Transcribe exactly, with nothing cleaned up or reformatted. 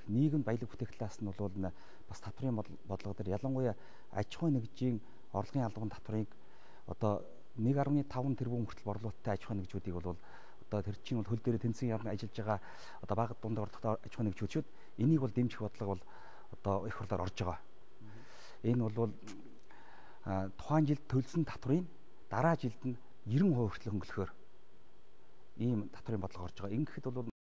нийгэм баялаг бүтээх талаас нь бол бас татврын бодлого дээр ялангуяа аж ахуй нэгжийн орлогын албан татврыг одоо нэг гаруй таван тэрбум хүртэл борлуулалттай аж ахуй нэгжүүдийг бол одоо тэр чинь бол хөл дээр тэнцэн явна ажиллаж байгаа одоо бага дунд ордогтой аж ахуй нэгжүүд энийг бол дэмжих бодлого бол одоо их хурлаар орж байгаа. Энэ бол тухайн жилд төлсөн татврын дараа жилд нь ninety percent хүртэл хөнгөлөхөөр ийм татврын бодлого орж байгаа. Ингэхэд бол